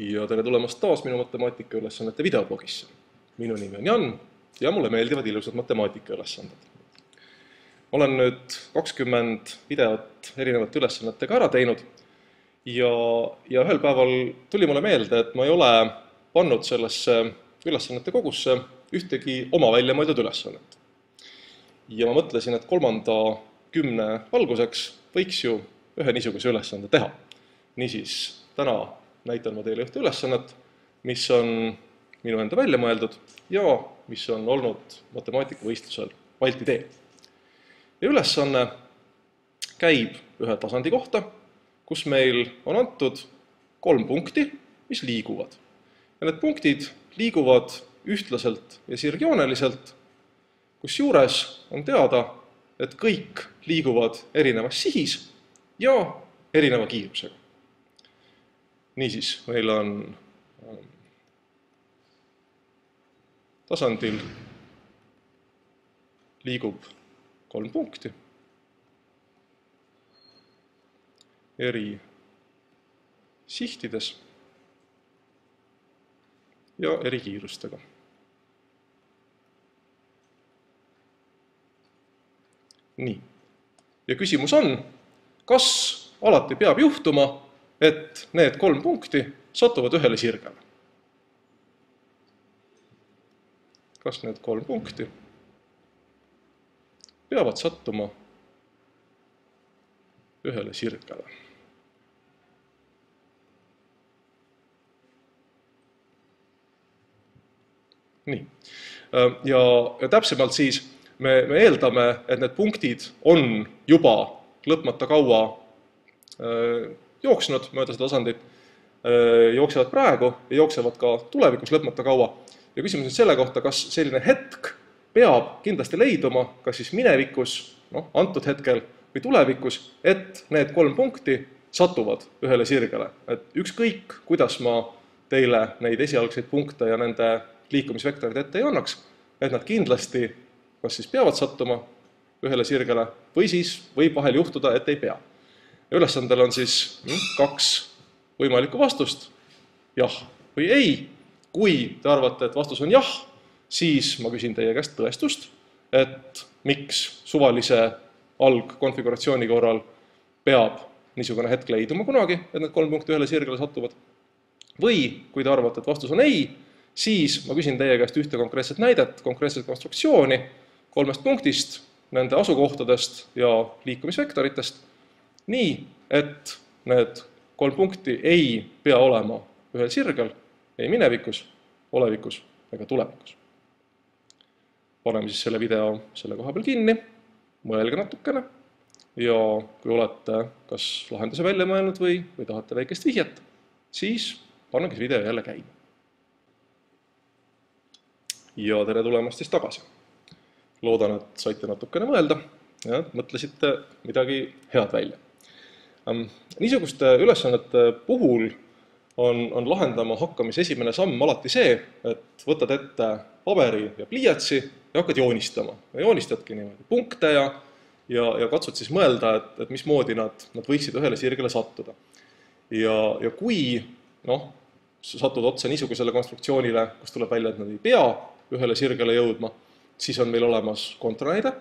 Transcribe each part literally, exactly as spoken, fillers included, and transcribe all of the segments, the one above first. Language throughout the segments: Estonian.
ja tere tulemast taas minu matemaatikaülesannete videoblogisse. Minu nimi on Jan ja mulle meeldivad ilusad matemaatikaülesanded. Olen nüüd kakskümmend videot erinevate ülesannetega ära teinud ja, ja ühel päeval tuli mulle meelde, et ma ei ole pannud sellesse ülesannete kogusse ühtegi oma välja mõeldud ülesannet. Ja ma mõtlesin, et kolmanda kümne alguseks võiks ju ühe niisuguse ülesande teha. Niisiis, täna näitan ma teile ühte ülesannet, mis on minu enda välja mõeldud ja mis on olnud matemaatikavõistlusel Balti tee. Ja ülesanne käib ühe tasandi kohta, kus meil on antud kolm punkti, mis liiguvad. Ja need punktid liiguvad ühtlaselt ja sirgjooneliselt, kus juures on teada, et kõik liiguvad erinevas sihis ja erineva kiirusega. Niisiis, meil on tasandil liigub kolm punkti eri sihtides ja eri kiirustega. Nii. Ja küsimus on, kas alati peab juhtuma, et need kolm punkti satuvad ühele sirgele? Kas need kolm punkti peavad sattuma ühele sirgele? Nii. Ja, ja täpsemalt siis me, me eeldame, et need punktid on juba lõpmata kaua äh, jooksnud mööda seda tasandit, äh, jooksevad praegu ja jooksevad ka tulevikus lõpmata kaua. Ja küsimus on selle kohta, kas selline hetk peab kindlasti leiduma, kas siis minevikus, noh, antud hetkel või tulevikus, et need kolm punkti satuvad ühele sirgele. Et ükskõik, kuidas ma teile neid esialgseid punkte ja nende liikumisvektorid ette ei annaks, et nad kindlasti kas siis peavad sattuma ühele sirgele või siis võib vahel juhtuda, et ei pea. Ja ülesandel on siis kaks võimalikku vastust, jah või ei. Kui te arvate, et vastus on jah, siis ma küsin teie käest tõestust, et miks suvalise algkonfiguratsiooni korral peab niisugune hetk leiduma kunagi, et need kolm punkti ühele sirgele satuvad. Või kui te arvate, et vastus on ei, siis ma küsin teie käest ühte konkreetset näidet, konkreetset konstruktsiooni kolmest punktist, nende asukohtadest ja liikumisvektoritest, nii, et need kolm punkti ei pea olema ühel sirgel, ei minevikus, olevikus ega tulevikus. Paneme siis selle video selle koha peal kinni, mõelge natukene ja kui olete kas lahenduse välja mõelnud või, või tahate väikest vihjet, siis pannegi see video jälle käima. Ja tere tulemast siis tagasi. Loodan, et saite natukene mõelda ja mõtlesite midagi head välja. Niisuguste ülesannete puhul on, on lahendama hakkamise esimene samm alati see, et võtad ette paberi ja pliiatsi ja hakkad joonistama. Ja joonistadki niimoodi punkte ja, ja, ja katsud siis mõelda, et, et mismoodi nad, nad võiksid ühele sirgele sattuda. Ja, ja kui noh, satud otsa niisugusele konstruktsioonile, kus tuleb välja, et nad ei pea ühele sirgele jõudma, siis on meil olemas kontranäide.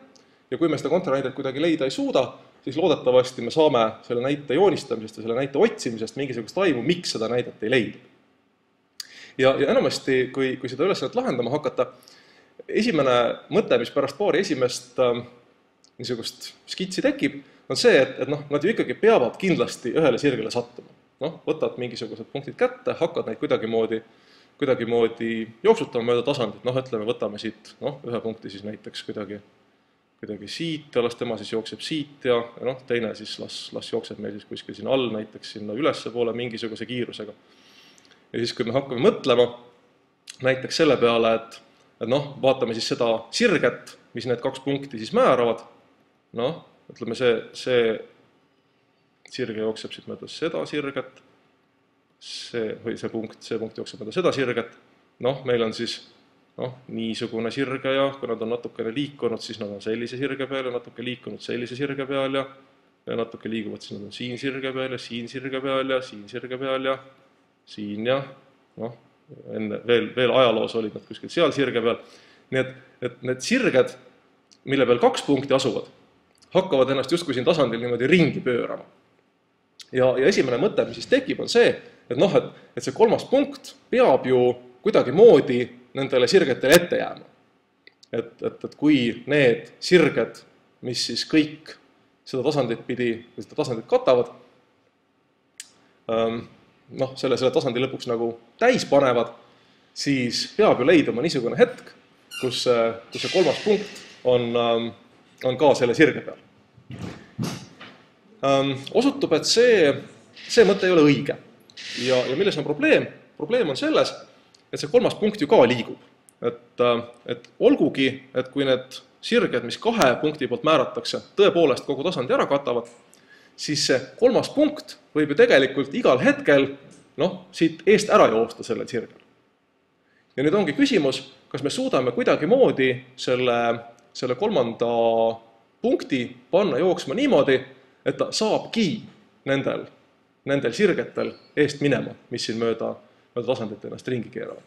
Ja kui me seda kontranäidet kuidagi leida ei suuda, siis loodetavasti me saame selle näite joonistamisest ja selle näite otsimisest mingisugust aimu, miks seda näidet ei leida. Ja, ja enamasti, kui, kui seda ülesannet lahendama hakata, esimene mõte, mis pärast paari esimest äh, niisugust skitsi tekib, on see, et, et noh, nad ju ikkagi peavad kindlasti ühele sirgele sattuma. Noh, võtad mingisugused punktid kätte, hakkad neid kuidagimoodi, kuidagimoodi jooksutama mööda tasandit. Noh, ütleme, võtame siit noh, ühe punkti siis näiteks kuidagi kuidagi siit ja las tema siis jookseb siit ja, ja noh, teine siis las, las jookseb meil siis kuskil siin all, näiteks sinna ülesse poole mingisuguse kiirusega. Ja siis, kui me hakkame mõtlema näiteks selle peale, et, et noh, vaatame siis seda sirget, mis need kaks punkti siis määravad, noh, ütleme see, see sirge jookseb siit mööda seda sirget, see, või see punkt, see punkt jookseb mööda seda sirget, noh, meil on siis noh, niisugune sirge ja kui nad on natukene liikunud, siis nad on sellise sirge peal ja natuke liikunud sellise sirge peal ja, ja natuke liiguvad, siis nad on siin sirge peal ja siin sirge peal ja siin sirge peal ja siin ja noh, enne veel, veel ajaloos olid nad kuskil seal sirge peal. Nii et, et need sirged, mille peal kaks punkti asuvad, hakkavad ennast justkui siin tasandil niimoodi ringi pöörama. Ja, ja esimene mõte, mis siis tekib, on see, et noh, et, et see kolmas punkt peab ju kuidagi moodi nendele sirgetele ette jääma. Et, et, et kui need sirged, mis siis kõik seda tasandit pidi, seda tasandit katavad, noh, selle, selle tasandi lõpuks nagu täis panevad, siis peab ju leiduma niisugune hetk, kus, kus see kolmas punkt on, on ka selle sirge peal. Osutub, et see, see mõte ei ole õige. Ja, ja milles on probleem? Probleem on selles, et see kolmas punkt ju ka liigub. Et, et olgugi, et kui need sirged, mis kahe punkti poolt määratakse, tõepoolest kogu tasandi ära katavad, siis see kolmas punkt võib ju tegelikult igal hetkel noh, siit eest ära joosta sellel sirgel. Ja nüüd ongi küsimus, kas me suudame kuidagi moodi selle, selle kolmanda punkti panna jooksma niimoodi, et ta saabki nendel, nendel sirgetel eest minema, mis siin mööda, mööda tasandit ennast ringi keeravad.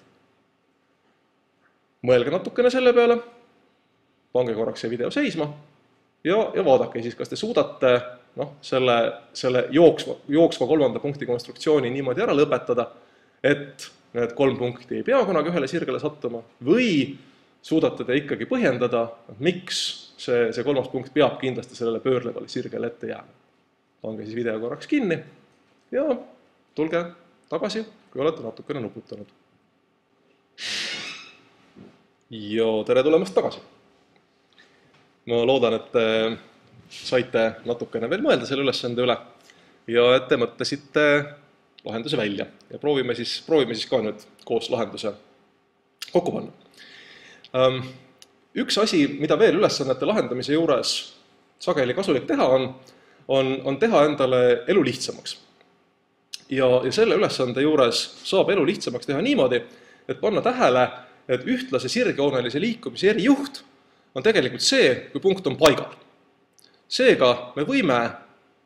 Mõelge natukene selle peale, pange korraks see video seisma ja, ja vaadake siis, kas te suudate noh, selle, selle jooksva, jooksva kolmanda punkti konstruktsiooni niimoodi ära lõpetada, et need kolm punkti ei pea kunagi ühele sirgele sattuma või suudate te ikkagi põhjendada, miks see, see kolmas punkt peab kindlasti sellele pöörlevale sirgele ette jääma. Pange siis video korraks kinni ja tulge tagasi, kui olete natukene nuputanud. Ja tere tulemast tagasi. Ma loodan, et te saite natukene veel mõelda selle ülesande üle ja et te mõtlesite lahenduse välja. Ja proovime siis, proovime siis ka nüüd koos lahenduse kokku panna. Üks asi, mida veel ülesannete lahendamise juures sageli kasulik teha on, on, on teha endale elu lihtsamaks. Ja, ja selle ülesande juures saab elu lihtsamaks teha niimoodi, et panna tähele, et ühtlase sirgjoonelise liikumise erijuht on tegelikult see, kui punkt on paigal. Seega me võime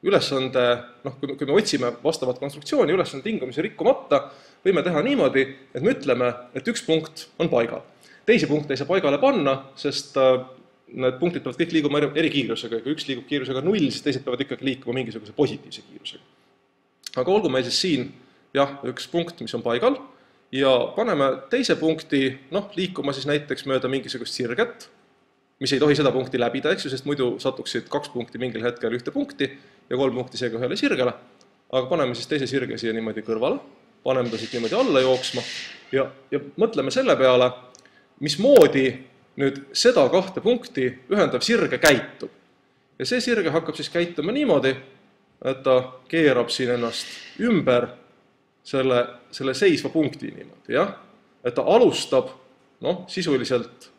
ülesande, noh, kui me otsime vastavat konstruktsiooni ülesande tingimusi rikkumata, võime teha niimoodi, et me ütleme, et üks punkt on paigal. Teisi punkte ei saa paigale panna, sest need punktid peavad kõik liiguma eri kiirusega. Kui üks liigub kiirusega null, siis teised peavad ikkagi liikuma mingisuguse positiivse kiirusega. Aga olgu meil siis siin jah, üks punkt, mis on paigal, ja paneme teise punkti noh, liikuma siis näiteks mööda mingisugust sirget, mis ei tohi seda punkti läbida, eks ju, sest muidu satuksid kaks punkti mingil hetkel ühte punkti ja kolm punkti seega ühele sirgele. Aga paneme siis teise sirge siia niimoodi kõrvale, paneme ta siit niimoodi alla jooksma ja, ja mõtleme selle peale, mismoodi nüüd seda kahte punkti ühendav sirge käitub. Ja see sirge hakkab siis käituma niimoodi, et ta keerab siin ennast ümber selle, selle seisva punkti niimoodi, jah? Et ta alustab noh, sisuliselt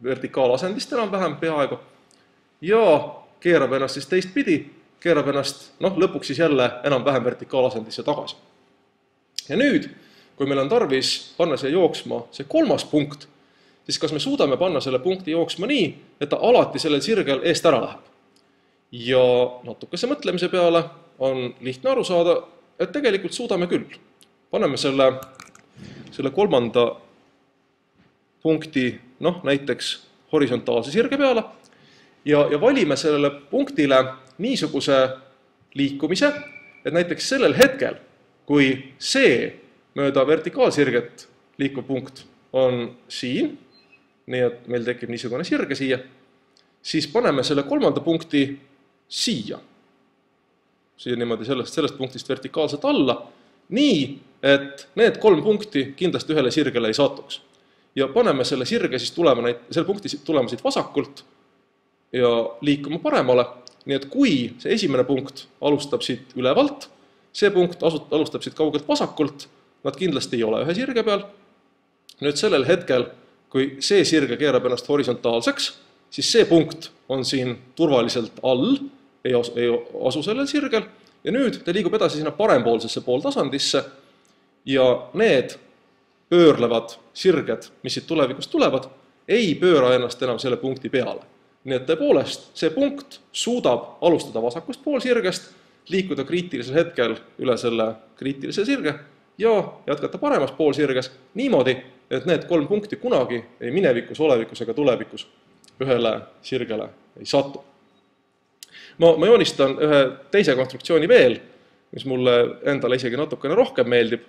vertikaalasendist enam-vähem peaaegu ja keerab ennast siis teistpidi, keerab ennast noh, lõpuks siis jälle enam-vähem vertikaalasendisse tagasi. Ja nüüd, kui meil on tarvis panna see jooksma see kolmas punkt, siis kas me suudame panna selle punkti jooksma nii, et ta alati sellel sirgel eest ära läheb. Ja natukese mõtlemise peale on lihtne aru saada, et tegelikult suudame küll. Paneme selle, selle kolmanda punkti noh, näiteks horisontaalse sirge peale ja, ja valime sellele punktile niisuguse liikumise, et näiteks sellel hetkel, kui see mööda vertikaalsirget liikuv punkt on siin, nii et meil tekib niisugune sirge siia, siis paneme selle kolmanda punkti siia. Siia niimoodi sellest, sellest punktist vertikaalselt alla, nii, et need kolm punkti kindlasti ühele sirgele ei satuks. Ja paneme selle sirge siis tulema, selle punkti tulema siit vasakult ja liikuma paremale, nii et kui see esimene punkt alustab siit ülevalt, see punkt alustab siit kaugelt vasakult, nad kindlasti ei ole ühe sirge peal. Nüüd sellel hetkel, kui see sirge keerab ennast horisontaalseks, siis see punkt on siin turvaliselt all, ei asu, ei asu sellel sirgel, ja nüüd ta liigub edasi sinna parempoolsesse pooltasandisse ja need pöörlevad sirged, mis siit tulevikust tulevad, ei pööra ennast enam selle punkti peale. Nii et tõepoolest, see punkt suudab alustada vasakust poolsirgest, liikuda kriitilisel hetkel üle selle kriitilise sirge ja jätkata paremas poolsirges niimoodi, et need kolm punkti kunagi ei minevikus, olevikus ega tulevikus ühele sirgele ei satu. Ma, ma joonistan ühe teise konstruktsiooni veel, mis mulle endale isegi natukene rohkem meeldib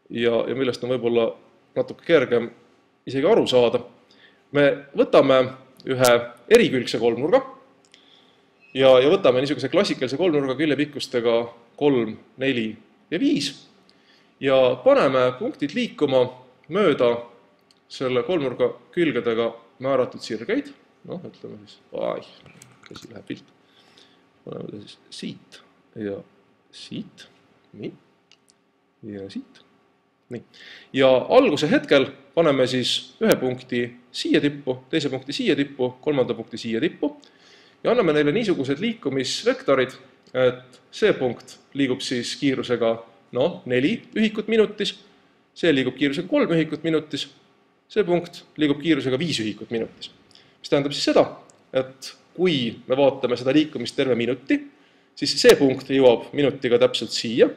ja, ja millest on võib-olla natuke kergem isegi aru saada. Me võtame ühe erikülgse kolmnurga ja, ja võtame niisuguse klassikalise kolmnurga küljepikkustega kolm, neli ja viis ja paneme punktid liikuma mööda selle kolmnurga külgedega määratud sirgeid. Noh, ütleme siis, ai, käsi läheb pilt. Paneme ta siis siit ja siit, nii, ja siit, nii. Ja alguse hetkel paneme siis ühe punkti siia tippu, teise punkti siia tippu, kolmanda punkti siia tippu ja anname neile niisugused liikumisvektorid, et see punkt liigub siis kiirusega no, neli ühikut minutis, see liigub kiirusega kolm ühikut minutis, see punkt liigub kiirusega viis ühikut minutis. Mis tähendab siis seda, et kui me vaatame seda liikumist terve minuti, siis see punkt jõuab minutiga täpselt siia,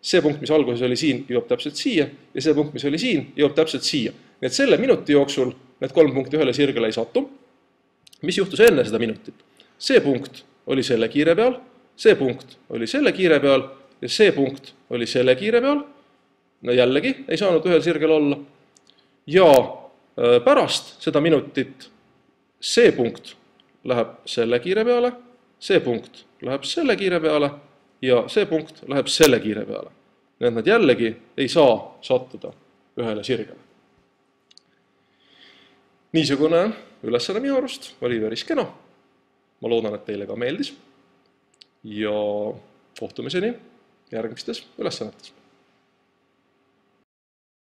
see punkt, mis alguses oli siin, jõuab täpselt siia ja see punkt, mis oli siin, jõuab täpselt siia. Nii et selle minuti jooksul need kolm punkti ühele sirgele ei satu. Mis juhtus enne seda minutit? See punkt oli selle kiire peal, see punkt oli selle kiire peal ja see punkt oli selle kiire peal. No jällegi ei saanud ühel sirgel olla. Ja pärast seda minutit see punkt läheb selle kiire peale, see punkt läheb selle kiire peale ja see punkt läheb selle kiire peale. Nii et nad jällegi ei saa sattuda ühele sirgele. Niisugune ülesanne minu arust oli päris kena. Ma loodan, et teile ka meeldis ja kohtumiseni järgmistes ülesannetes.